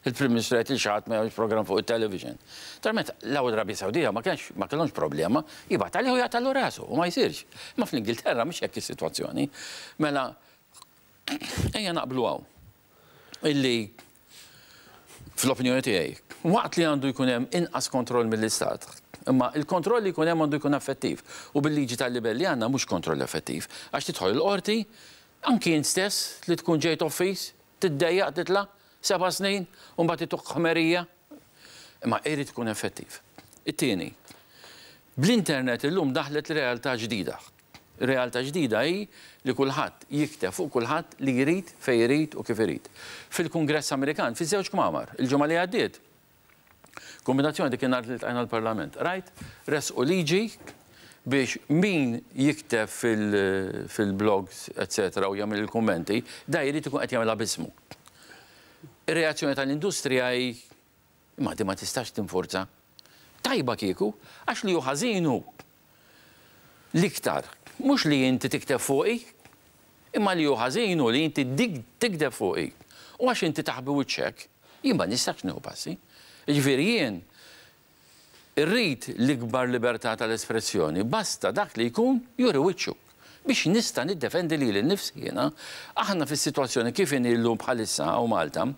Il-Prim Ministru jgħid lil xi ħadd ma jagħmilx programm fuq it-television. Naturalment l-Arabja Sawdija ma kienx ma kellhomx problema, jibgħat għalih u jaqtagħlu rasu u ma jsirx. Imma fl-Ingilterra mhix hekk is-sitwazzjoni. Mela ejja naqblu hawn illi fl-opinjoni tiegħi, waqt li għandu jkun hemm inqas kontroll mill-Istat, imma il-kontroll li jkun hemm għandu jkun effettiv. U bil-liġi tal-libell li għandna mhux kontroll effettiv. Għax tidħol il-qorti, anki int stess li tkun ġejt offiż, Tiddejjaq titla' seba' snin u mbagħad ituk ħmerija? Imma irid ikun effettiv. It-tieni, bl-internet illum daħlet realtà ġdida. Realtà ġdida hi li kulħadd jikteb fuq kulħadd li jrid, fejn irid u kif irid. Fil-Kungress Amerikan, fiż-żewġ kmamar, il-ġimgħa li għaddiet, Kombinazzjoni dik in-nhar li ltqajna l-Parlament. Rajt, ressqu liġi biex min jikteb fil-blogs, eċċetera, u jagħmel il-kummenti, da jrid ikun qed jagħmilha b'ismu. Ir-reazzjoni tal-industrija hi imma di ma tistax tinfurza. Tajba kieku, għax li hu ħażin hu l-iktar mhux li inti tikteb fuqi, Imma li hu ħażin hu li inti tigdeb fuqi. U għax inti taħbi wiċċek, jien ma nistax nieħu passi. Jiġifieri jien irrid l-ikbar libertà tal-espressjoni, basta dak li jkun juri wiċċu. Biex nista' niddefendi lili nnifsi jiena. Aħna fis-sitwazzjoni kif inhi llum bħalissa hawn Malta,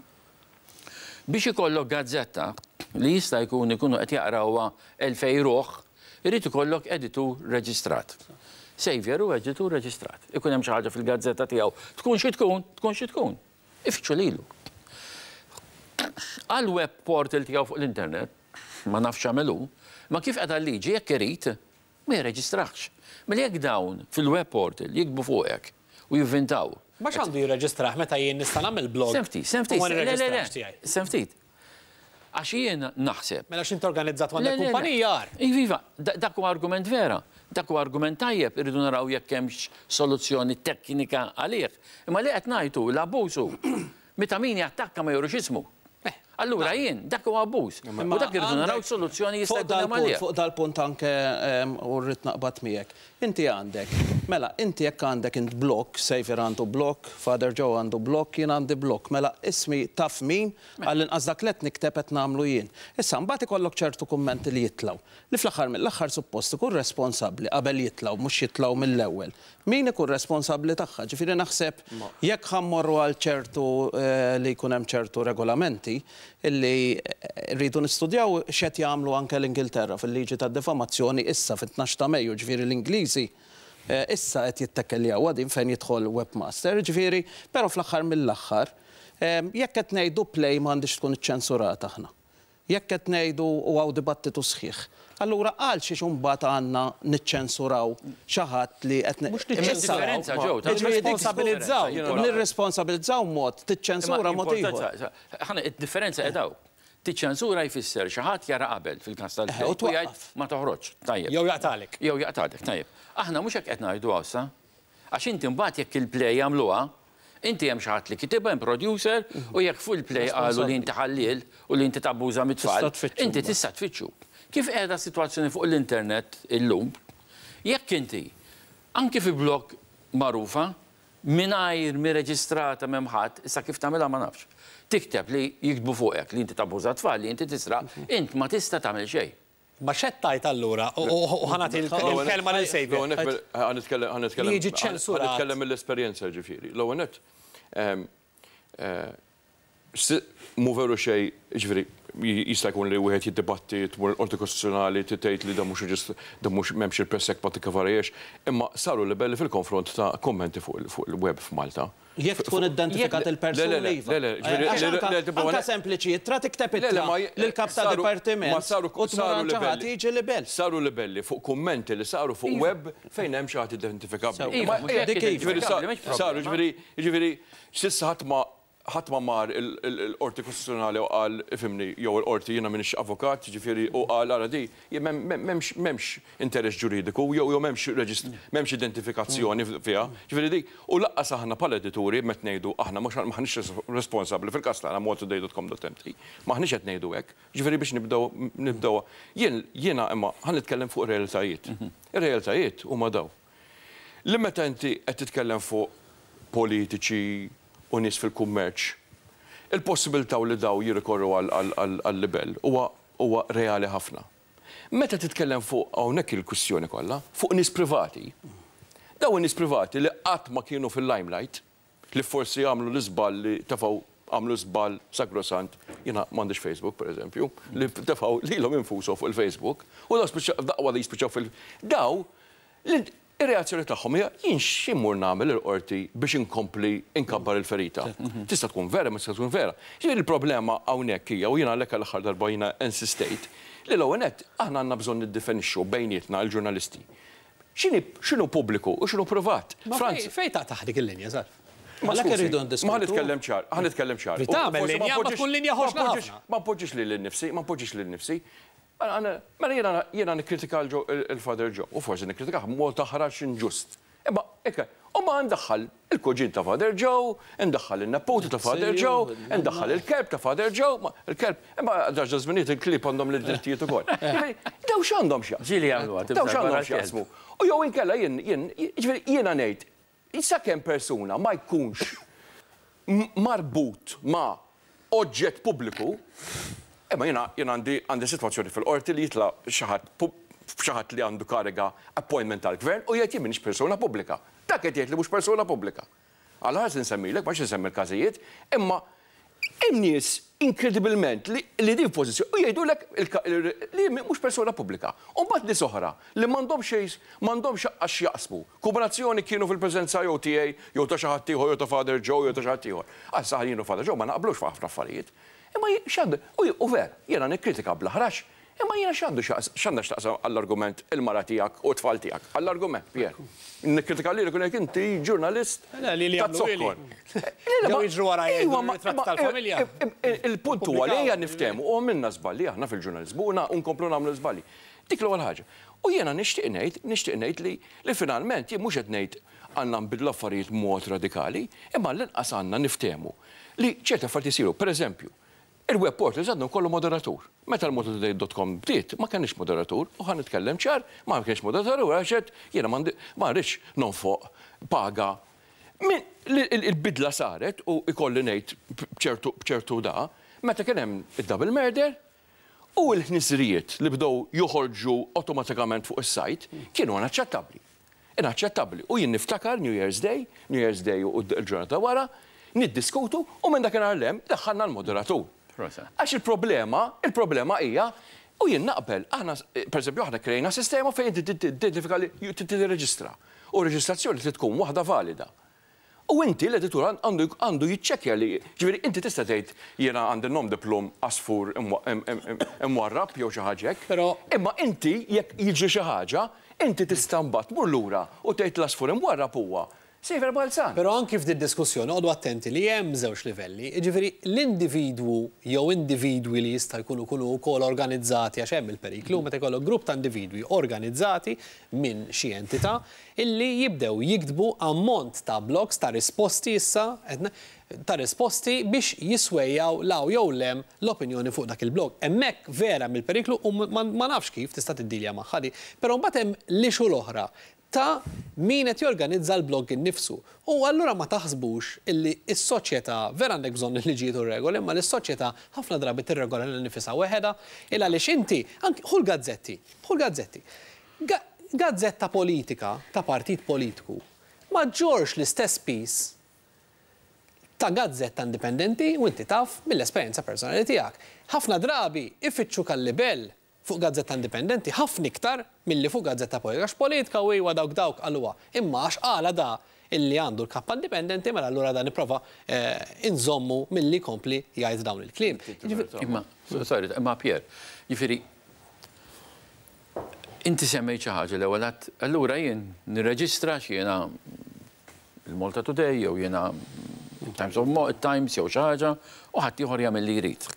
Biex ikollok gazzetta li jista' jkun ikunu qed jaqrawha 2000 ruħ, irid ikollok editur reġistrat. Saviour hu editur reġistrat. Ikun hemm xi ħaġa fil-gazzetta tiegħu, tkun xi tkun, tkun xi tkun, ifittxu lilu. Għall-web portal tiegħu fuq l-internet, ma nafx x'għamel hu, imma kif qiegħda l-liġi jekk irid, Ma jirreġistrahx. Mela jekk dawn fil-web portal jiktbu fuqek u jivvintaw. Ma x'għandu jirreġistrah meta jien nista' nagħmel blog Sem ftit, sem ftit. u ma Le, le, le, nirreġistrahx tiegħi? sem ftit. Għax jien naħseb. Mela x'int organizzat u Le, għandek le, le. kumpanija agħar. Iva, iva, dak huwa argument vera. Dak huwa argument tajjeb, irridu naraw jekk hemmx soluzzjoni teknika għalih. Imma li qed ngħid hu l-abbuż hu meta min jattakka ma jurix ismu. Allura jien, dak huwa abbuż. U dak irridu naraw x'soluzzjoni jista' jkun hemm għalih. Fuq dal-punt anke u rrid naqbad miegħek. Inti għandek, mela inti jekk għandek int blog, Saviour għandu blog, Father Joe għandu blog, jien għandi blog, mela ismi taf min, għall-inqas dak li qed nikteb qed nagħmlu jien. Issa mbagħad ikollok ċertu kummenti li jitlgħu, li fl-aħħar mill-aħħar suppost ikun responsabbli qabel jitlgħu mhux jitlgħu mill-ewwel. Min ikun responsabbli tagħha. Ġifieri naħseb jekk ħa mmorru għal ċertu li jkun hemm ċertu regolamenti illi rridu nistudjaw x'qed jagħmlu anke l-Ingilterra fil-liġi tad-difamazzjoni issa fit-tnax ta' Mejju, ġifieri l-Ingliżi issa qed jittekkeljawha din fejn jidħol webmaster, ġifieri però fl-aħħar mill-aħħar jekk qed ngħidu play m'għandhiex tkun iċċensurata aħna. Jekk qed ngħidu u hawn dibattitu sħiħ, allura għal xiex imbagħad għandna niċċensuraw xi ħadd li qed Mhux niċċensuraw, nirresponsabilizzaw. Nirresponsabilizzaw mod, tiċċensura mod ieħor. Id-differenza qiegħda hawn. Tiċċensura jfisser xi ħadd jara qabel fil-każ tal-play u jgħid ma toħroġx. Tajjeb. Jew jaqtagħlek. Jew jaqtagħlek, tajjeb. Aħna mhux hekk qed ngħidu hawn issa. Għax inti mbagħad jekk il-play jagħmluha, inti hemm xi ħadd li kitibha, hemm producer, u jekk fuq il-play qalu li inti ħalliel u li inti tabbuża mit-tfal, inti tista' tfittxu. Kif qiegħda s-sitwazzjoni fuq l-internet illum, jekk inti, anki fi blog magħrufa, mingħajr mhi reġistrata m'hemm ħadd, issa kif tagħmilha ma nafx, tikteb li jiktbu fuqek li inti tabbuża t-tfal, li inti tisraq, int ma tista' tagħmel xejn. Ma x'qed tgħid allura? U ħa nagħti l-kelma lil Saviour. L-ewwel nett, ħa nitkellem, ħa nitkellem. Li jiġi ċċensurat. Ħa nitkellem mill-esperjenza ġifieri. L-ewwel nett, mhu veru xejn, jiġifieri jista' jkun li wieħed jiddibatti, tmur il-Qorti Kostituzzjonali tgħid li dan mhux dan mhux m'hemmx il-Press Act ma tikkovariex, imma saru libelli fil-konfront ta' kummenti fuq il-web f'Malta. Jekk tkun identifikat il-persuna iva. Għax anke sempliċi ittra tikteb ittra lill-kap ta' dipartiment u tmur għand xi ħadd jiġi libell. Saru libelli fuq kummenti li saru fuq web fejn hemm xi ħadd identifikabbli. Dik iva. Saru, jiġifieri s'issa ħadd ma ħadd ma mar il-Qorti Kostituzzjonali u qal, ifhimni, jew il-Qorti, jiena m'iniex avukat, jiġifieri, u qal ara di, m'hemmx m'hemmx interess ġuridiku jew jew m'hemmx reġist m'hemmx identifikazzjoni fiha. Jiġifieri dik, u lanqas aħna bħala edituri meta ngħidu aħna mhux m'aħniex responsabbli fil-każ tagħna maltatoday.com.mt, m'aħniex qed ngħidu hekk. Jiġifieri biex nibdew nibdew jien jiena imma ħa nitkellem fuq ir-realtajiet. Ir-realtajiet huma dawn. Li meta inti qed titkellem fuq politiċi u nies fil-kummerċ. Il-possibilità li daw jirrikorru għal-libell huwa reali ħafna. Meta titkellem fuq hawnhekk il-kwistjoni kollha, fuq nies privati, daw in-nies privati li qatt ma kienu fil-limelight, li forsi għamlu l-iżball li tefgħu għamlu żball sagrosant, jiena m'għandix Facebook pereżempju, li tefgħu lilhom infushom fuq il-Facebook, u daw spiċċaw daqwa li jispiċċaw fil- daw ir-reazzjoni tagħhom hija jien x'immur nagħmel il-qorti biex inkompli inkabbar il-ferita. Tista' tkun vera, ma tista' tkun vera. Ġifieri il-problema hawnhekk hija u jiena għalhekk għall-aħħar darba jiena insistejt li l-ewwel nett aħna għandna bżonn niddefinixxu bejnietna l-ġurnalisti. X'inhi x'inhu pubbliku u x'inhu privat. Ma fejn taqtaħ dik il-linja, Salv? Ma Għalhekk skużi, irridu ma ndiskutu. nitkellem ċar, ħa nitkellem ċar. Li tagħmel linja, ma tkun linja ħoxna ħafna. Ma npoġġix lil innifsi, ma npoġġix lil innifsi. Mela jiena nikkritika il-Father Joe u forsi nikkritikah b'mod aħrax inġust. Imma hekk, u ma ndaħħal il-kuġin ta' Father Joe, ndaħħal in-neputi ta' Father Joe, ndaħħal il-kelb ta' Father Joe, il-kelb, imma daġa żminijiet il-klieb għandhom l-drittijiet ukoll. Ġifieri, daw x'għandhom x'jaqsmu? Ġieli jagħmluha, Daw x'għandhom x'jaqsmu? U jew inkella jien jien jiġifieri jiena ngħid sakemm persuna ma jkunx marbut ma' oġġett pubbliku, imma jiena jiena għandi għandi sitwazzjoni fil-qorti li jitla' xi ħadd xi ħadd li għandu kariga appointment tal-gvern u jgħid jien m'iniex persuna pubblika. Dak qed jgħid li mhux persuna pubblika. Alla ħares insemmilek, ma insemmi l-każijiet, imma hemm nies inkredibilment li li din pożizzjoni u jgħidulek li mhux persuna pubblika. U mbagħad nies oħra li m'għandhomx xejn m'għandhomx għax jaqsmu. Kombinazzjoni kienu fil-preżenza jew tiegħi jew ta' xi ħadd ieħor jew ta' Father Joe jew ta' xi ħadd ieħor. Għal saħ jien u Father Joe ma naqblux fuq ħafna affarijiet. Imma x'għandu u ver, jiena nikkritika bl-aħrax, imma jiena x'għandu x'għandha x'taqsam għall-argument il-mara tiegħek u t-tfal tiegħek. Għall-argument, Pier. Nikkritika lilek u ngħid inti ġurnalist Li ta' jagħmlu zokkor. Ġew jiġru wara jgħidu r-ritratt tal-familja. Il-punt huwa li ejja niftehmu u għamilna żballi aħna fil-ġurnaliżmu u nkomplu nagħmlu żballi. Dik l-ewwel ħaġa. U jiena nixtieq ngħid, nixtieq ngħid li finalment jien mhux qed ngħid għandna nbidlu affarijiet mod radikali, imma l-inqas għandna niftehmu li ċerti affarijiet isiru. Per eżempju, il-web portals għandhom kollu moderatur. Meta l-maltatoday.com bdiet, ma kenix moderatur, u ħa nitkellem ċar, ma kienx moderatur, u għaxet jiena ma rridx nonfoq paga. Il-bidla saret u ikolli ngħid bċertu da, meta kien hemm id-double murder u l-ħnisrijiet li bdew joħorġu automatikament fuq is-sajt kienu inaċċettabbli. Inaċċettabbli. U jien niftakar New Year's Day, New Year's Day u l-ġurnata wara, niddiskutu u minn dakinhar 'l hemm daħħalna l-moderatur. Għax il-problema hija, u jien naqbel, aħna, per eżempju, aħna krejna sistema fejn inti tidentifika li tirreġistra. U reġistrazzjoni trid tkun waħda valida. U inti l-editur għandu jiċċekkja li, ġifieri inti tista' tgħid jiena għandi nom de plume asfur imwarrab jew xi ħaġa hekk. Però Imma inti jekk jiġri xi ħaġa, inti tista' mbagħad tmur lura u tgħid l-asfur imwarrab huwa Saviour Balzan. Però anki f'din diskussjoni għodu attenti li hemm żewġ livelli, jiġifieri l-individwu jew individwi li jista' jkunu kunu wkoll organizzati għax hemm il-periklu meta jkollok grupp ta' individwi organizzati minn xi entità illi jibdew jiktbu ammont ta' blogs ta' risposti issa ta' risposti biex jiswejjaw law jew lem l-opinjoni fuq dak il-blog. Hemmhekk vera mill-periklu u ma nafx kif tista' tiddilja magħha di. Però mbagħad hemm l-issue l-oħra ta' min qed jorganizza l-blog innifsu. U allura ma taħsbux illi s-soċjetà vera għandek bżonn il-liġijiet u regoli, imma l-soċjetà ħafna drabi tirregola lil nifisha weħeda, il għaliex inti anki ħu l-gazzetti, ħu l-gazzetti. Gazzetta politika ta' partit politiku ma ġġorrx l-istess piż ta' gazzetta indipendenti u inti taf mill-esperjenza personali tiegħek. Ħafna drabi ifittxu kal-libell fuq gazzetta indipendenti ħafna iktar milli fuq gazzetta politika. Għax politika u iwa dawk dawk għaluha. Imma għax qala da illi għandu l-kappa indipendenti, mela allura da nipprova inżommu milli kompli jgħid dawn il-kliem. Imma, sorry, imma Pier, jiġifieri, inti semmejt xi ħaġa l-ewwel għadt, allura jien nirreġistra x'jiena il-Malta Today jew jiena Times of Times jew xi ħaġa u ħadd ieħor jagħmel li jrid.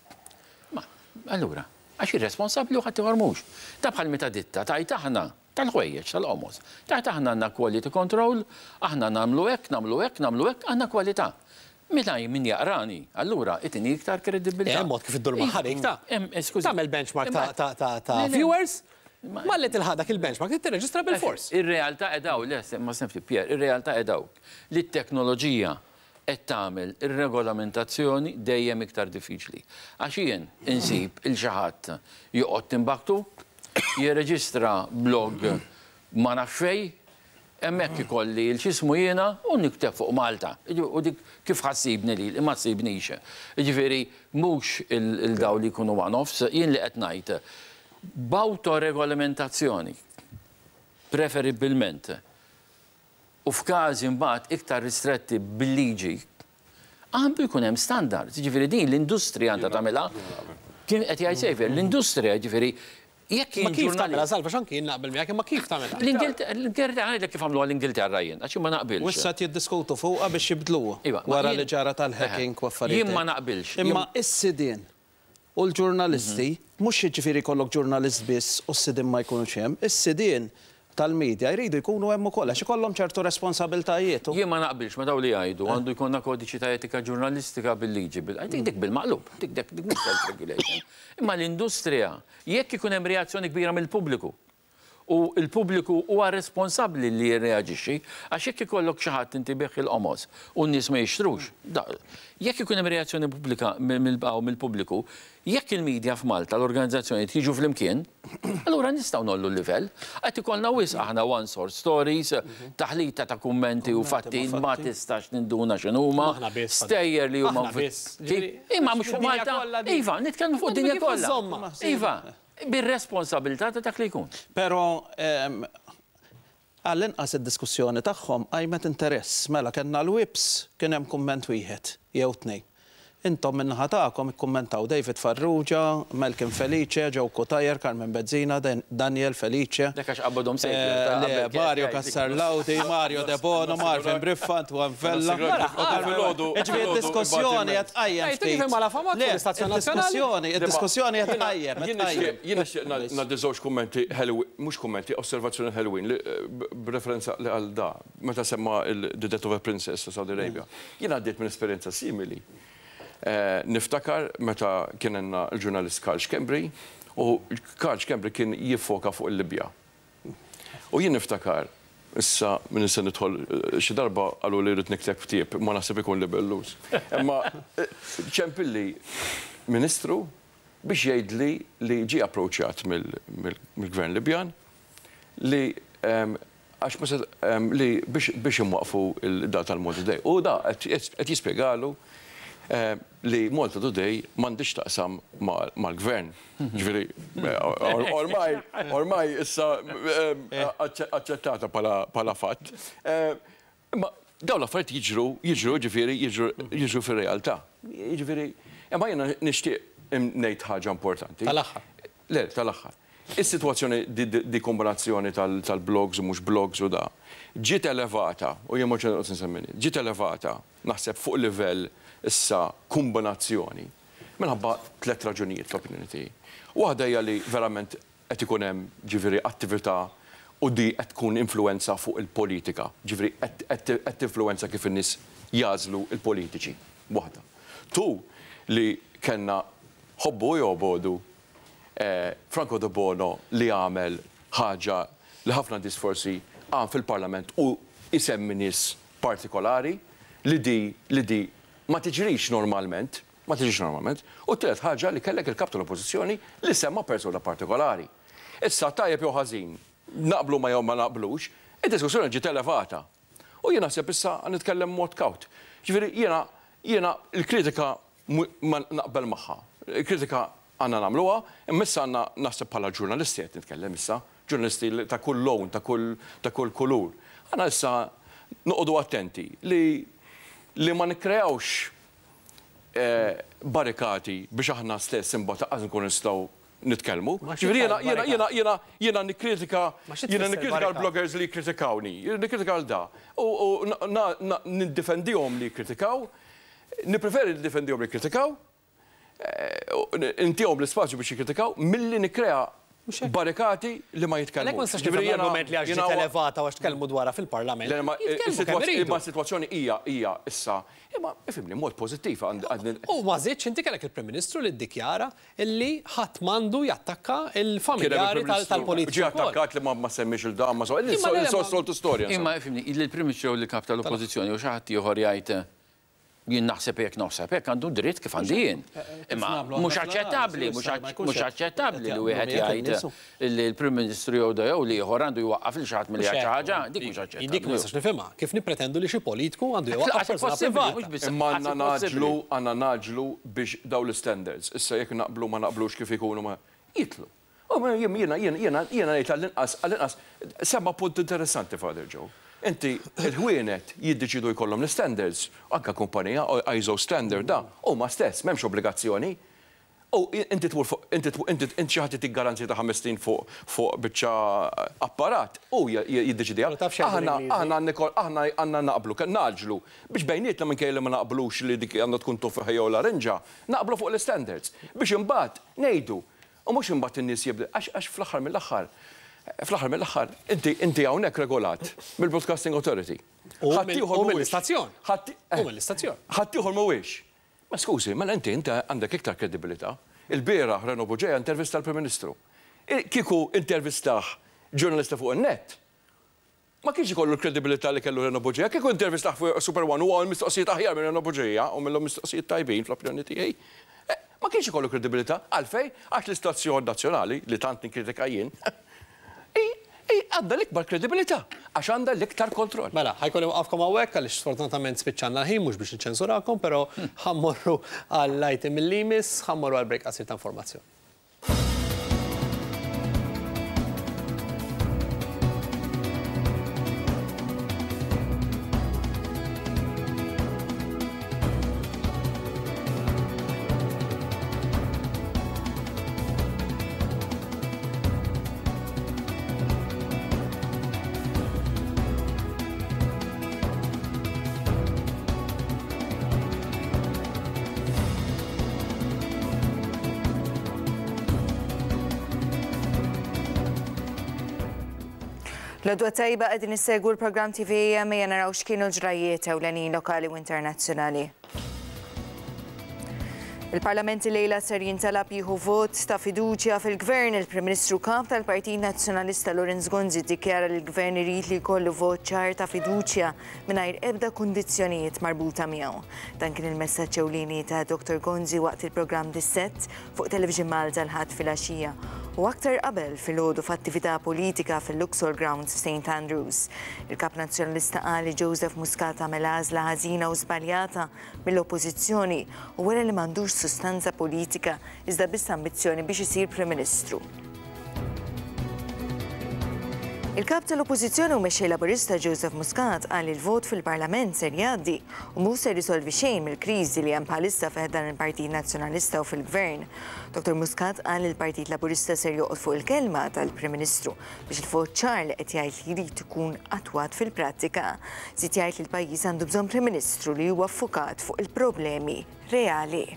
Ma allura, għax irresponsabbli u ħadd ieħor mhux. Ta' bħal meta ditta tajt aħna tal-ħwejjeġ tal-qomos. Tajt aħna għandna quality control, aħna nagħmlu hekk, nagħmlu hekk, nagħmlu hekk, għandna kwalità. Meta min jaqrani, allura itini iktar kredibilità. Hemm mod kif iddur magħha dik ta' Skużi. Tagħmel benchmark ta' viewers, malli tilħaq dak il-benchmark tirreġistra bil-fors. Ir-realtà edaw, le, ma snefti Pier, ir-realtà edaw li t-teknoloġija qed tagħmel ir-regolamentazzjoni dejjem iktar diffiċli. Għax jien insib 'il xi ħadd joqgħod Timbuktu, jirreġistra blog ma nafx fejn, hemmhekk ikolli 'l x'ismu jiena u nikteb fuq Malta. U dik kif ħa ssibni lili? Ma ssibnix. Jiġifieri mhux 'il dawn li jkunu one-offs, jien li qed ngħid b'awtoregolamentazzjoni preferibbilment u f'każi mbagħad iktar ristretti bil-liġi, għandu jkun hemm standards. Jiġifieri din l-industrija għandha tagħmilha. Kien qed jgħid Xavier, l-industrija jiġifieri jekk Ma kif tagħmilha, Salva, x'anki jien naqbel miegħek, imma kif tagħmilha? L-Ingilterra, ngħidlek kif għamluha l-Ingilterra jien, għax jien ma naqbilx. U issa qed jiddiskutu fuqha biex jibdluha Iva, ma wara jien- li ġara tal-hacking u affarijiet. Jien ma naqbilx. Imma is-sidien u l-ġurnalisti, mhux jiġifieri jkollok ġurnalist biss u s-sidien ma jkunux hemm, is-sidien tal-media jridu jkunu hemm ukoll għax ikollhom ċertu responsabiltajiet. Jien ma naqbilx ma' dawk li jgħidu għandu jkollna kodiċi ta' etika ġurnalistika bil-liġi. Dik dik bil-maqlub, dik dik dik mhux self-regulation. Imma l-industrija, jekk ikun hemm reazzjoni kbira mill-pubbliku, u l-pubbliku huwa responsabbli li jirreaġixxi, għax jekk ikollok xi ħadd inti bih il-qomos u n-nies ma jixtrux, jekk ikun hemm reazzjoni pubblika mill-pubbliku, jekk il-media f'Malta, l-organizzazzjonijiet jiġu flimkien, allura nistgħu ngħollu l-livell. Qed ikollna wisq aħna one source stories, taħlita ta' kummenti u fatti ma tistax tinduna x'inhuma, stejjer li huma. Imma mhux fuq Malta. Iva, nitkellmu fuq id-dinja kollha. Iva. Bir-responsabilità ta' dak li jkun. Però għall-inqas id-diskussjoni tagħhom qajmet interess. Mela kellna l-whips kien hemm kumment wieħed jew tnejn. Intom min-naħa tagħkom ikkummentaw David Farrugia, Malcolm Felice, Joe Cutajar, Carmen Bezzina, Daniel Felice. Dak għax qabbadhom sejjer. Le, Mario Cassar Laudi, Mario Debono, Marvin Briffa, Antoine Vella. Jiġifieri d-diskussjoni qed tqajjem ftit. Le, id-diskussjoni, id-diskussjoni qed tqajjem, qed tqajjem. Jien nixtieq ngħaddi żewġ kummenti ħelwin, mhux kummenti, osservazzjoni ħelwin li b'referenza li għal da, meta semma il-The Death of a Princess ta' Saudi Arabia. Jien għaddiet minn esperjenza simili. Niftakar meta kien għandna l-ġurnalist Karl Schembri u Karl Schembri kien jiffoka fuq il-Libja. U jien niftakar, issa minn se nidħol xi darba qalu li rrid nikteb ktieb, ma naħseb ikun libelluż. Imma ċempilli ministru biex jgħidli li ġie approċċjat mill-gvern Libjan li għax ma li biex imwaqfu il-da tal-Malta Today. U da qed jispjegalu li Malta Today m'għandix taqsam mal-gvern. Ġifieri, ormai, ormai issa aċċettata bħala fatt. Imma dawn l-affarijiet jiġru, jiġru ġifieri, jiġru fir-realtà. Jiġifieri, imma jiena nixtieq ngħid ħaġa importanti. Tal-aħħar. Le, tal-aħħar. Is-sitwazzjoni di kombinazzjoni tal-blogs u mhux blogs u da, ġiet elevata, u jien mhux noqgħod insemmini, ġiet elevata naħseb fuq livell issa kombinazzjoni minħabba tliet raġunijiet fl-opinjoni tiegħi. Waħda hija li verament qed ikun hemm ġifieri attività u di qed tkun influenza fuq il-politika, ġifieri qed tinfluenza kif in-nies jagħżlu l-politiċi. Waħda. Tu li kellna ħobbu jew bodu Franco Debono li għamel ħaġa li ħafna nies forsi qam fil-Parlament u jsemmi nies partikolari li di li di ma tiġrix normalment, ma tiġrix normalment, u t-tielet ħaġa li kellek il-Kap tal-Oppożizzjoni li semma persuna partikolari. Issa tajjeb jew ħażin, naqblu ma jew ma naqblux, id-diskussjoni ġiet elevata. U jien naħseb issa nitkellem mod kawt. Ġifieri jiena jiena l-kritika ma naqbel magħha. Il-kritika għandna nagħmluha, imma issa għandna naħseb bħala ġurnalisti qed nitkellem issa, ġurnalisti ta' kull lawn, ta' kull ta' kull kulur. Għandna issa noqogħdu attenti li li ma nikkreawx barrikati biex aħna stess imbagħad lanqas nkunu nistgħu nitkellmu. Ġifieri jiena jiena jiena jiena jiena nikkritika jiena nikkritika l-bloggers li jikkritikawni, nikkritika l da. U niddefendihom li jikkritikaw, nippreferi niddefendihom li jikkritikaw, intihom l-ispazju biex jikkritikaw milli nikkrea barrikati li ma jitkellmux. Għalhekk ma nistax nifhem l-argument li għax ġiet elevata u għax tkellmu dwarha fil-Parlament. Jitkellmu kemm iridu. Imma s-sitwazzjoni hija hija issa, imma ifhimni mod pożittiv għand. U ma żiedx inti kellek il-Prim Ministru li ddikjara li ħadd m'għandu jattakka l-familjari tal-politiċi. Ġie attakkat li ma semmiex il dan ma soltu storja. Imma ifhimni, li l-Prim Ministru jew l-Kap tal-Oppożizzjoni jew xi ħadd ieħor jgħid Jien naħseb hekk naħseb hekk għandu dritt kif għandi jien. Imma mhux aċċettabbli, mhux aċċettabbli li wieħed jgħid li l-Prim Ministru jew jew li ieħor għandu jwaqqaf lil xi ħadd milli jgħid xi ħaġa, dik mhux aċċettabbli. Dik ma nistax nifhimha. Kif nippretendu li xi politiku għandu jwaqqaf persuna privata? Imma għandna ngħaġġlu, għandna ngħaġġlu biex dawn l-istandards, issa jekk naqblu ma naqblux kif ikunu ma jidħlu. U jiena jiena jiena ngħid għall-inqas għall-inqas semma punt interessanti Father Joe. Inti il-ħwienet jiddeċidu jkollhom l-istandards, anke kumpanija ISO standard da, huma stess m'hemmx obbligazzjoni. U inti tmur fuq inti inti inti xi ħadd itik garanzija ta' ħames snin fuq fuq biċċa apparat, hu jiddeċidiha. Aħna aħna aħna għandna naqblu, ngħaġġlu biex bejnietna minkejja li ma naqblux li dik għandha tkun tuffiħa jew larinġa, naqblu fuq l-istandards biex imbagħad ngħidu U mhux imbagħad in-nies jibdew, għax għax fl-aħħar mill-aħħar, fl-aħħar mill-aħħar, inti inti hawnhekk regolat mill-Broadcasting Authority. U mill-istazzjon. U mill-istazzjon. Ħaddieħor mhuwiex. Ma skużi, mela inti inti għandek iktar kredibilità. Il-bieraħ Reno Bugeja intervista l-Prim Ministru. Kieku intervistah ġurnalista fuq in-net, Ma kienx ikollu l-kredibilità li kellu Reno Bugeja. Kieku intervistah fuq Super One u għamel mistoqsijiet aħjar minn Reno Bugeja, u għamillhom mistoqsijiet tajbin fl-opinjoni tiegħi, ma kienx ikollu kredibilità. Għalfejn? Għax l-istazzjon nazzjonali, li tant nikkritika jien, hi għandha l-ikbar kredibilità għax għandha l-iktar kontroll. Mela, ħa jkolli nwaqqafkom hawnhekk għaliex sfortunatament spiċċalna l-ħin, mhux biex niċċensurakom, però ħa mmorru għall-item li jmiss, ħa mmorru għal break qasir ta' informazzjoni. L-għodwa tajba qegħdin issegwu l-programm TVAM ejja naraw x'kienu l-ġrajjiet ewlenin lokali u internazzjonali. Il-Parlament illejla ser jintalab jieħu vot ta' fiduċja fil-Gvern. Il-Prim Ministru Kap tal-Partit Nazzjonalista Lawrence Gonzi ddikjara li l-Gvern irid li jkollu vot ċar ta' fiduċja mingħajr ebda kundizzjonijiet marbuta miegħu. Dan kien il-messaġġ ewlieni ta' Dottor Gonzi waqt il-programm Dissett fuq Television Malta l-Ħadd filgħaxija u aktar qabel filgħodu f'attività politika fil-Luxol Grounds f'St Andrews. Il-Kap Nazzjonalista qal li Joseph Muscat għamel għażla ħażina u żbaljata mill-Oppożizzjoni u wera li m'għandux sustanza politika iżda biss ambizzjoni biex isir Prim Ministru. Il-Kap tal-Oppożizzjoni u Mexxej Laburista Joseph Muscat qal li l-vot fil-Parlament ser jgħaddi u mhu ser isolvi xejn mill-kriżi li hemm bħalissa fi ħdan il-Partit Nazzjonalista u fil-Gvern. Dottor Muscat qal li l-Partit Laburista ser joqgħod fuq il-kelma tal-Prim Ministru biex il-vot ċar li qed jgħid li jrid ikun attwat fil-prattika. Żied jgħid li l-pajjiż għandu bżonn Prim Ministru li huwa ffukat fuq il-problemi reali.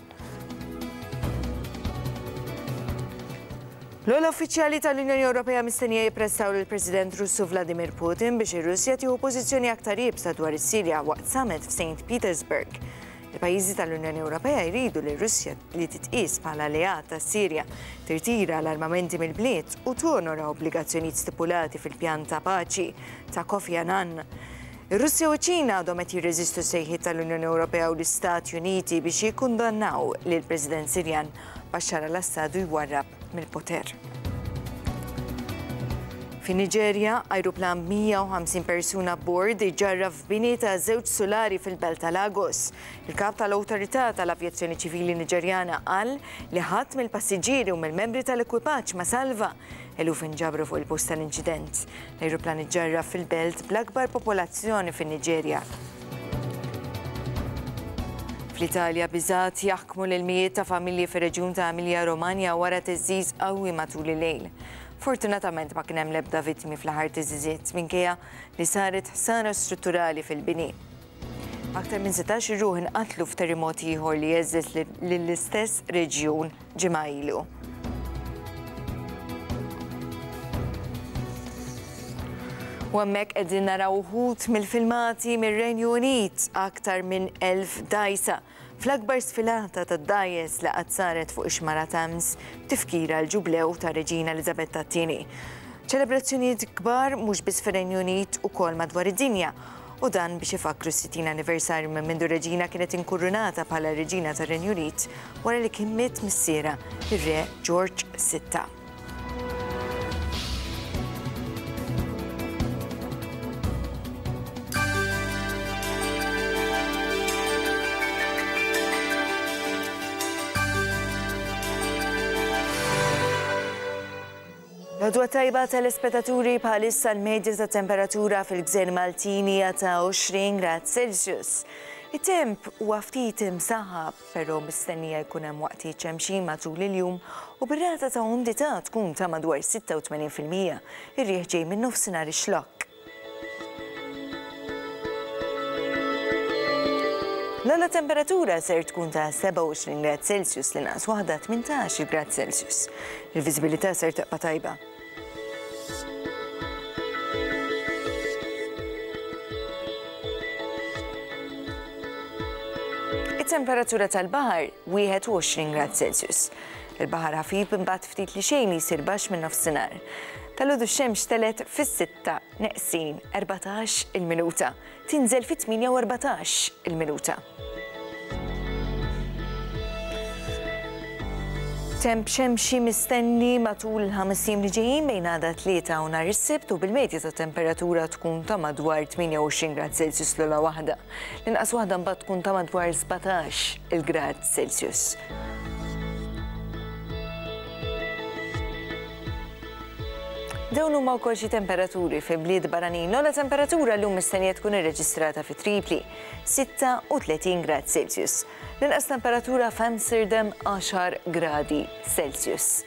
L-ogħla uffiċjali tal-Unjoni Ewropea mistennija jippressaw lill-President Russu Vladimir Putin biex ir-Russja tieħu pożizzjoni aktar iebsa dwar is-Sirja waqt summit f'Saint Petersburg. Il-pajjiżi tal-Unjoni Ewropea jridu li r-Russja li titqies bħala alleat tas-Sirja tirtira l-armamenti mill-bliet u tonora obbligazzjonijiet stipulati fil-pjan ta' paċi ta' Kofi Annan. Ir-Russja u ċ-Ċina għadhom qed jirreżistu s-sejħiet tal-Unjoni Ewropea u l-Istati Uniti biex jikkundannaw lill-President Sirjan Bashar al-Assad u jwarrab mill-poter. Fin-Niġerja, ajruplan b'150 persuna abbord iġġarraf f'bini ta' żewġ sulari fil-belt ta' Lagos. Il-kap tal-Awtorità tal-Avjazzjoni Ċivili Niġerjana qal li ħadd mill-passiġġieri u mill-membri tal-ekwipaġġ ma salva. Eluf inġabru fuq il-post tal-inċident. L-ajruplan iġġarraf fil-belt bl-akbar popolazzjoni fin-Niġerja. Fl-Italja, biżgħat jaħkmu lil mijiet ta' familji fir-reġjun ta' Emilia-Romagna wara theżżiż qawwi matul il-lejl. Fortunatament ma kien hemm l-ebda vittmi fl-aħħar theżżiżiet minkejja li saret ħsara strutturali fil-bini. Aktar minn 16 ruħ inqatlu f'terrimot ieħor li heżżeż lill-istess reġjun ġimgħa ilu. U hemmhekk qegħdin naraw uħud mill-filmati mir-Renju Unit, aktar minn 1,000 dgħajsa fl-akbar sfilata tad-dgħajjes li qatt saret fuq ix-xmara Thames b'tifkira għall-ġublew tar-Reġina Eliżabetta t-Tieni. Ċelebrazzjonijiet kbar mhux biss fir-Renju Unit ukoll madwar id-dinja. U dan biex ifakkru s-60 anniversarju minn mindu r-Reġina kienet inkurunata bħala Reġina tar-Renju Unit wara li kien miet missierha, ir-Re George Sitta. L-għodwa tajba telespetaturi bħalissa l-medja ta' temperatura fil-gżejjer Maltin hija ta' 20 grad Celsius. It-temp huwa ftit imsaħħab, però mistennija jkun hemm waqtiet xemxin matul il-jum u bir-rata ta' umdità tkun ta' madwar 86%. Ir-riħ ġej min-nofsinhar ix-Xlokk. L-ogħla temperatura ser tkun ta' 27 grad Celsius, l-inqas waħda 18 grad Celsius. Il-viżibilità ser tibqa' tajba. It-temperatura tal-baħar 21 grad Celsius. Il-baħar ħafif imbagħad ftit li xejn jsir baxx min-nofsinhar. Dalgħodu x-xemx telgħet fis-sitta neqsin 14 il-minuta, tinżel fit-tmienja u 14 il-minuta. Temp xemxi mistenni matul il-ħames ijiem li ġejjin bejn għada t-Tlieta u nhar is-Sibt u bil-medja tat-temperatura tkun ta' madwar 28 grad Celsius l-ogħla waħda. L-inqas waħda mbagħad tkun ta' madwar 17 il-grad Celsius. Dawn huma wkoll xi temperaturi fi bliet barranin. L-ogħla temperatura llum mistennija tkun irreġistrata fi Tripli, 36 grad Celsius. L-inqas temperatura f'Amsterdam 10 gradi Celsius.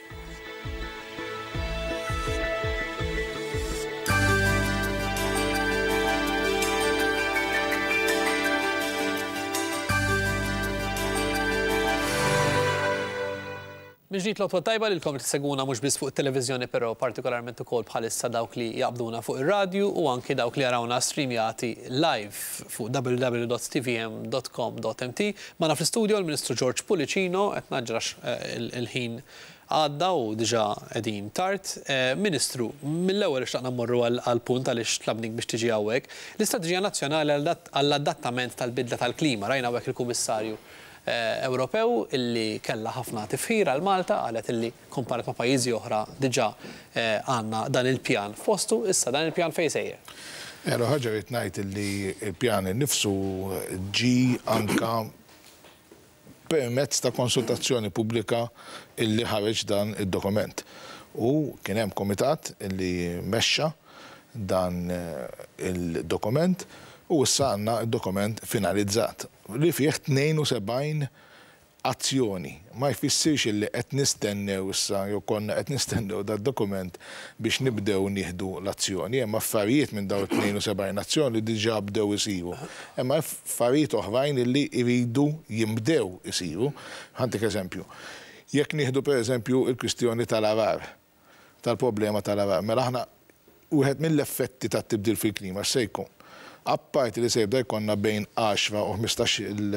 Minn ġdid l-għodwa t-tajba lilkom li tissegwuna mhux biss fuq it-televiżjoni però partikolarment ukoll bħalissa dawk li jaqbduna fuq ir-radju u anki dawk li jarawna streamjati live fuq www.tvm.com.mt. Magħna fl-istudio l-Ministru George Pullicino, qed ngħaġġel għax il-ħin għadda u diġà qegħdin tard. Ministru, mill-ewwel xtaqna mmorru għall-punt għaliex tlabnik biex tiġi hawnhekk. L-Istrateġija Nazzjonali għall-Adattament tal-Bidla tal-Klima, rajna hawnhekk il-Kummissarju Ewropew illi kellha ħafna tifħir għal Malta, qalet illi komparat ma' pajjiżi oħra diġà għandna dan il-pjan f'postu, issa dan il-pjan fejn sejjer? L-ewwel ħaġa rrid ngħid illi l-pjan innifsu ġie anke permezz ta' konsultazzjoni pubblika illi ħareġ dan id-dokument. U kien hemm kumitat illi mexxa dan il-dokument u issa għandna d-dokument finalizzat. li fih 72 azzjoni. Ma jfissirx illi qed nistennew issa jew konna qed nistennew dad-dokument biex nibdew nieħdu l-azzjoni. Hemm affarijiet minn dawn it-72 azzjoni li diġà bdew isiru. Hemm affarijiet oħrajn illi jridu jinbdew isiru. Ħa ntik eżempju. Jekk nieħdu pereżempju l-kwistjoni tal-għarar. tal-problema tal-għargħar. Mela aħna wieħed mill-effetti tat-tibdil fil-klima x'se jkun? Apparti li se jibda jkollna bejn għaxra u 15-il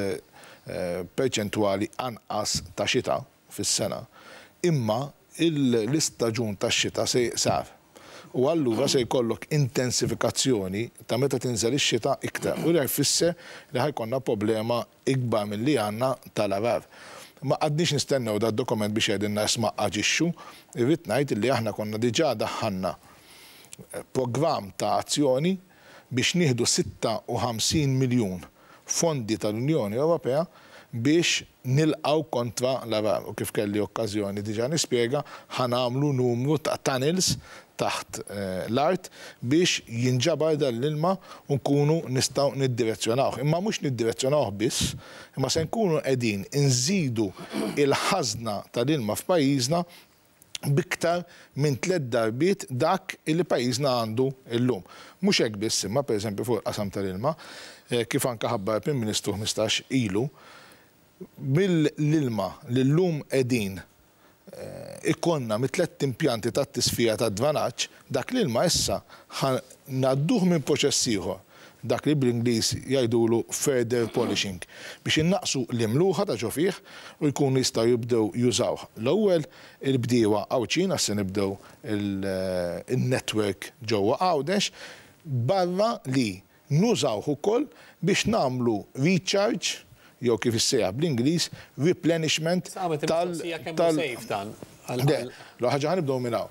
perċentwali anqas ta' xita fis-sena, imma l-istaġun tax-xita se jiqsar u allura se jkollok intensifikazzjoni ta' meta tinżel ix-xita iktar u dan jfisser li ħa jkollna problema ikbar milli għandna tal-għarar. Ma qgħadniex nistennew dad-dokument biex jgħidilna isma' aġixxu, irrid ngħid li aħna konna diġà daħħalna programm ta' azzjoni biex nieħdu 56 miljun fondi tal-Unjoni Ewropea biex nilqgħu kontra l-għarar u kif kelli okkażjoni diġà nispjega ħa nagħmlu numru ta' tunnels taħt l-art biex jinġabar dan l-ilma u nkunu nistgħu niddirezzjonawh. Imma mhux niddirezzjonawh biss, imma se nkunu qegħdin inżidu l-ħażna tal-ilma f'pajjiżna b'iktar minn tlett darbiet dak li pajjiżna għandu llum. Mhux hekk biss imma, pereżempju fuq il-qasam tal-ilma, kif anke ħabbar il-Prim Ministru 15 ilu, mill-ilma li llum qegħdin ikollna mit-tlett impjanti tat-tisfija tad-dranaġġ, dak l-ilma issa ħa ngħadduh minn proċess ieħor, dak li bl-Ingliż jgħidulu further polishing, biex innaqqsu l-imluħa ta' ġo fih u jkunu jistgħu jibdew jużawh l-ewwel il-bdiewa Għawdxin għax se nibdew in-network ġewwa Għawdex, barra li. Nużawh ukoll biex nagħmlu recharge jew kif issejjaħ bl-Ingliż replenishment tal. Kemm hu safe dan? Le, l-ewwel ħaġa ħa nibdew minn hawn.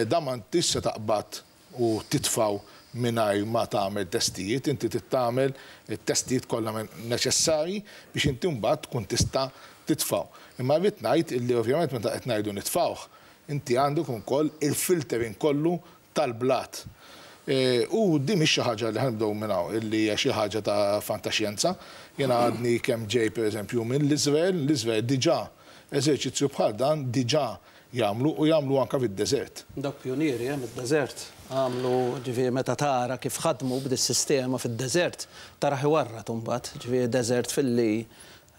Dan ma intix se taqbad u titfgħu mingħajr ma tagħmel testijiet, inti trid tagħmel it-testijiet kollha neċessarji biex inti mbagħad tkun tista' titfgħu. Imma rrid ngħid illi ovvjament meta qed ngħidu nitfgħuh, inti għandek ukoll il-filtering kollu tal-blat. U din mhix xi ħaġa li ħa nibdew minn hawn, illi hija xi ħaġa ta' fantaxjenza. Jiena għadni kemm ġej pereżempju minn l-Iżrael, l-Iżrael diġà eżerċizzju bħal dan diġà jagħmlu u jagħmlu anke fid-deżert. Dawk pjunieri, eh, mid-deżert. Għamlu, ġifieri meta tara kif ħadmu b'dis-sistema fid-deżert, tarah iwarrad imbagħad, ġifieri deżert filli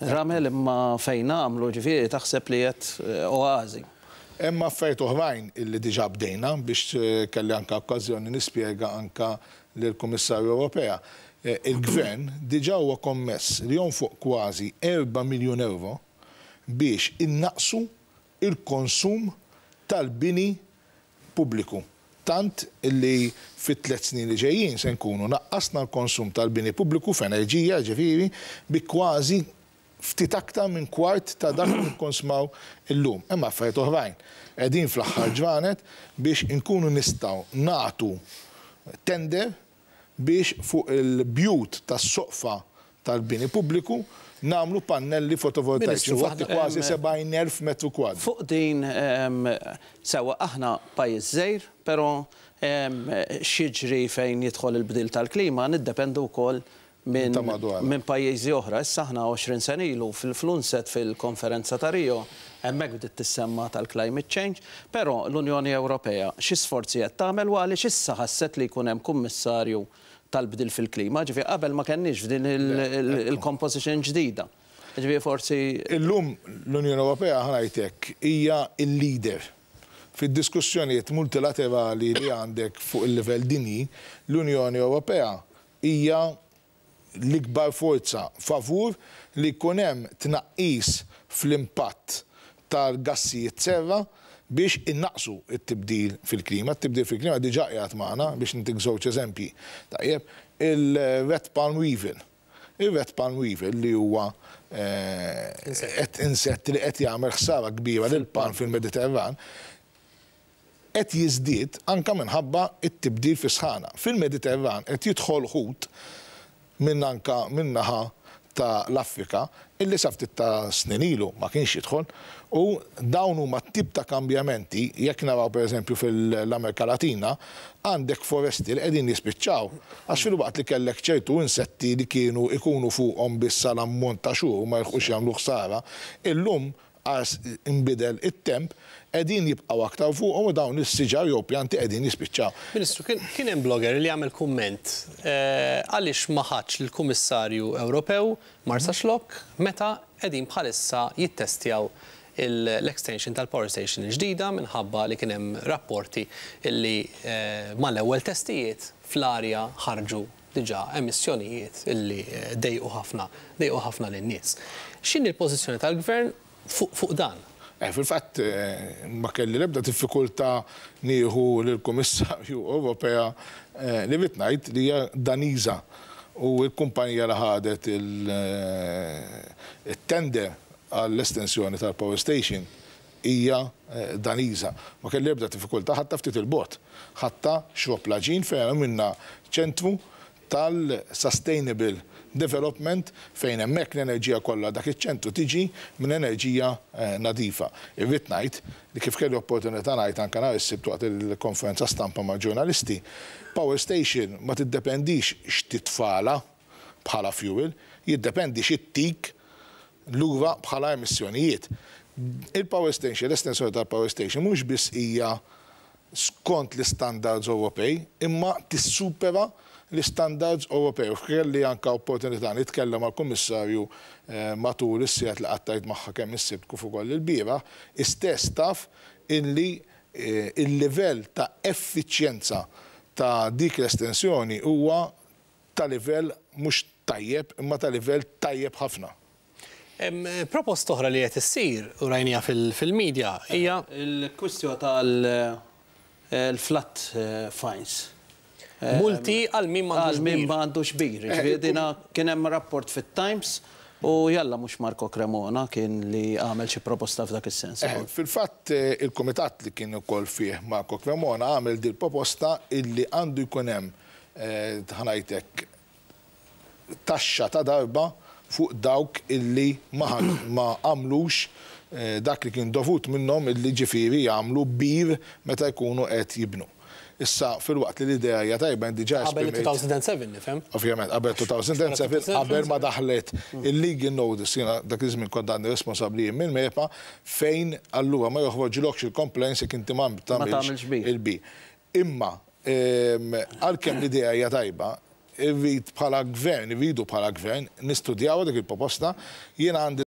Ramel imma fejn għamlu ġifieri taħseb li qed oażi. Hemm affarijiet oħrajn illi diġà bdejna biex kelli anke okkażjoni nispjega anke lill-Kummissarju Ewropea. Il-Gvern diġà huwa kommess li jonfoq kważi 4 miljun ewro biex innaqqsu l-konsum tal-bini pubbliku, tant li fit-tlett snin li ġejjin se nkunu naqqasna l-konsum tal-bini pubbliku f'enerġija, jiġifieri, bi kważi ftit aktar minn kwart ta' dak li nikkonsmaw illum. Hemm affarijiet oħrajn. Qegħdin fl-aħħar ġranet biex inkunu nistgħu nagħtu tender biex fuq il-bjut tas-soqfa tal-bini pubbliku nagħmlu pannelli fotovoltaiċi, infatti kważi 70,000 metru kwadru. Fuq din, sewwa aħna pajjiż żgħir, però x'jiġri fejn jidħol il-bdil tal-klima niddependu wkoll minn pajjiżi oħra. Issa aħna 20 sena ilu fl-UNCED fil-konferenza ta' Rio, hemmhekk bdiet tissemma tal-climate change, però l-Unjoni Ewropea xi sforzi qed tagħmel u għaliex issa ħasset li jkun hemm kummissarju tal-bdil fil-klima, ġifieri qabel ma kenniex f'din il-composition ġdida. Ġifieri forsi. Illum l-Unjoni Ewropea, ħa ngħid hekk, hija l-leader fid-diskussjonijiet multilaterali li għandek fuq il-livell dinji, l-Unjoni Ewropea hija l-ikbar forza favur li jkun hemm tnaqqis fl-impatt tal-gassijiet serra biex innaqqsu t-tibdil fil-klima. It-tibdil fil-klima diġà qiegħed magħna, biex ntik żewġ eżempji. Tajjeb, il-red palm weevil. Ir-red palm weevil li huwa qed insett li qed jagħmel ħsara kbira lill-palm fil-Mediterran, qed jiżdied anke minħabba t-tibdil fis-sħana. Fil-Mediterran qed jidħol ħut minn anke min-naħa ta' l-Afrika illi sa ftit ta' snin ilu ma kienx jidħol u dawn huma t-tip ta' kambjamenti, jekk naraw per eżempju fil-Amerika Latina għandek foresti li qegħdin jispiċċaw għax filwaqt li kellek ċertu insetti li kienu jkunu fuqhom biss għal ammont ta' xhur u ma jilħqux jagħmlu ħsara, illum għax inbidel it-temp, qegħdin jibqgħu aktar fuqhom u dawn is-siġar jew pjanti qegħdin jispiċċaw. Ministru, kien hemm blogger li għamel kumment għaliex ma ħadx lill-Kummissarju Ewropew Marsaxlokk meta qegħdin bħalissa jittestjaw l-extension tal-power station il-ġdida minħabba li kien hemm rapporti li mal-ewwel testijiet fl-arja ħarġu diġà emissjonijiet illi dejqu ħafna, dejqu ħafna lin-nies. X'inhi l-pożizzjoni tal-Gvern fuq fuq dan? Fil-fatt ma kelli l-ebda diffikultà nieħu lill-Kummissarju Ewropea li rrid ngħid li hija Daniża u l-kumpanija li ħadet it-tender għall-estensjoni tal-power station hija Daniża. Ma kelli ebda diffikultà, ħadtha ftit 'il bogħod. Ħadtha Xrobb l-Għaġin fejn għamilna ċentru tal-sustainable development fejn hemmhekk l-enerġija kollha dak iċ-ċentru tiġi minn enerġija nadifa. Irrid ngħid li kif kelli opportunità ngħid anke nhar is-Sibt waqt il-konferenza stampa mal-ġurnalisti, power station ma tiddependix x'titfagħlha bħala fuel, jiddependi x'ittik lura bħala emissjonijiet. Il-power station, l-estensjoni tal-power station mhux biss hija skont l-istandards Ewropej, imma tissupera l-istandards Ewropej. U kelli anke opportunità nitkellem mal-Kummissarju matul is-sigħat li qattajt magħha kemm is-Sibt kif ukoll ilbieraħ, hi stess taf illi l-livell ta' effiċjenza ta' dik l-estensjoni huwa ta' livell mhux tajjeb imma ta' livell tajjeb ħafna. Proposta oħra li qed issir u rajniha fil-media hija. Il-kwistjo tal-flat fines. Multi għal min m'għandux Għal min bir. m'għandux bir. Ġifieri dina kien hemm rapport fit-Times u jalla mhux Marco Cremona kien li għamel xi proposta f'dak is-sens. Fil-fatt il-kumitat li kien ukoll fih Marco Cremona għamel dil proposta illi għandu jkun hemm ħa ngħidlek taxxa ta' darba fuq dawk illi ma għamlux dak li kien dovut minnhom, illi ġifieri jagħmlu bir meta jkunu qed jibnu. Issa, fil-waqt li l-idea hija tajba, diġà Qabel esprimejt- 2007, nifhem. Ovvjament, qabel 2007, qabel ma daħlet il-legal notice, jiena dak iż-żmien kont għandi responsabbli minn MEPA, fejn allura ma joħroġlokx il-complaints jekk inti ma tagħmilx bir. il-bir. Imma, għalkemm l-idea hija tajba, irrid bħala gvern, irridu bħala gvern, nistudjaw dik il-proposta, jiena għandi